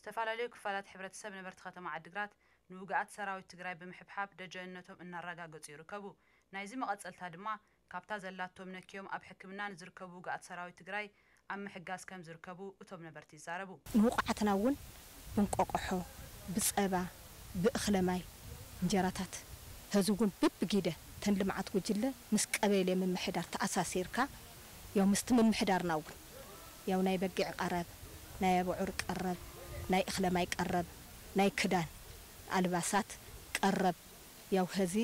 ዝተፈላለዩ ክፋላት ሕብረተሰብ ነበርቲ ከተማ ዓዲግራት ንውግኣት ሰራዊት ትግራይ ብምሕብሓብ ደጀንነቶም እናረጋገፁ ይርከቡ። ናይዚ መቐፀልታ ድማ ካብታ ዘላቶም ነኪዮም ኣብ ሕክምና ንዝርከቡ ውግኣት ሰራዊት ትግራይ ኣብ ምሕጋዝ ከም ዝርከቡ እቶም ነበርቲ ይዛረቡ። ንውቑዓትና እውን ብንቆቆሖ፣ ብፀባ፣ ብእኽለማይ እንጀራታት ሀዚ እውን ብብጊደ ተን ልምዓት ጉጅለ ምስ ቀበሌ ምምሕዳር ተኣሳሲርካ ያው ምስቲ ምምሕዳርና እውን ያው ናይ በጊዕ ቀረብ፣ ናይ ኣቡዑር ቀረብ፣ ናይ እኽለማይ ቀረብ፣ ናይ ክዳን ኣልባሳት ቀረብ ያው ሀዚ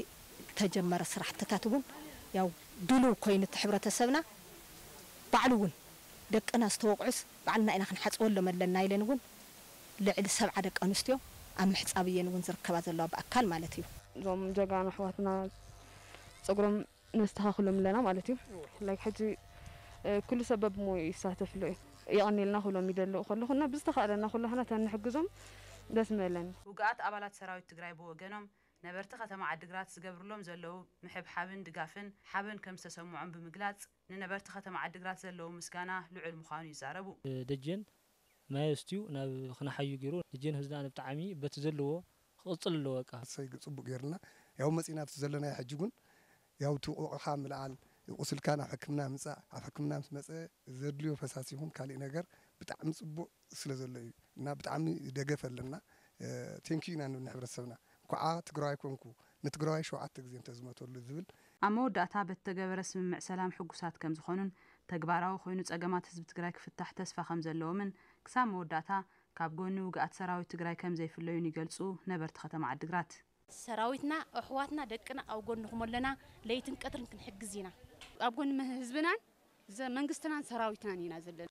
ተጀመረ ስራሕትታት እውን ያው ድሉው ኮይኑ እቲ ሕብረተሰብና ባዕሉ እውን ደቅና ዝተወቕዑስ ባዕልና ኢና ክንሓፅበሎም ኣለና ኢለን እውን ልዕሊ ሰብዓ ደቂ ኣንስትዮ ኣብ ምሕፃብ እየን እውን ዝርከባ ዘለዋ ብኣካል ማለት እዩ። እዞም ጀጋኑ ኣሕዋትና ፀጉሮም ነስተኻኽሎም ኣለና ማለት እዩ። ላይክ ሕጂ ኩሉ ሰብ በብሞዩ ይሳተፍሉ እዩ። የቐኒልና ክብሎም ይደልኡ ከለኹ እና ብዝተኻእለና ኩላህና ተንሕግዞም ደስ ምበለኒ። ውግኣት ኣባላት ሰራዊት ትግራይ ብወገኖም ነበርቲ ከተማ ዓዲግራት ዝገብርሎም ዘለዉ ምሕብሓብን ድጋፍን ሓበን ከም ዝተሰምዖም ብምግላፅ ንነበርቲ ከተማ ዓዲግራት ዘለዉ ምስጋና ልዑል ምዃኑ ይዛረቡ። ደጀን ማይ ኣስትዩ ናብ ክነሓዩ ገይሩ። ደጀን ህዝና ብጣዕሚ በቲ ዘለዎ ክቕፅል ኣለዎ በቃ። ሰይ ፅቡቅ ገይርና ያው መፂና ኣብቲ ዘለናዮ ሕጂ እውን ያው እቲ ቆቆኻ ምልዓል ቁስልካ ናብ ሕክምና ምፃእ ኣብ ሕክምና ምስ መፀ ዘድልዮ ፈሳሲ ይኹን ካሊእ ነገር ብጣዕሚ ፅቡቅ ስለ ዘሎ እዩ እና ብጣዕሚ ደገፍ ኣለና። ቴንኪዩ ኢና ንብል ንሕብረተሰብና እንኳዓ ትግራዋይ ኮንኩ ንትግራዋይ ሸውዓተ ግዜ እንተዝመተሉ ዝብል ኣብ መወዳእታ በቲ ተገበረ ስምምዕ ሰላም ሕጉሳት ከም ዝኾኑን ተግባራዊ ኮይኑ ፀገማት ህዝቢ ትግራይ ክፍታሕ ተስፋ ከም ዘለዎምን ክሳብ መወዳእታ ካብ ጎኒ ውግኣት ሰራዊት ትግራይ ከም ዘይፍለዩን ይገልፁ ነበርቲ ከተማ ዓዲግራት። ሰራዊትና ኣሕዋትና ደቅና ኣብ ጎንኹም ኣለና። ለይትን ቀትርን ክንሕግዝ ኢና። ኣብ ጎኒ ህዝብናን ዘ- መንግስትናን ሰራዊትናን ኢና ዘለና።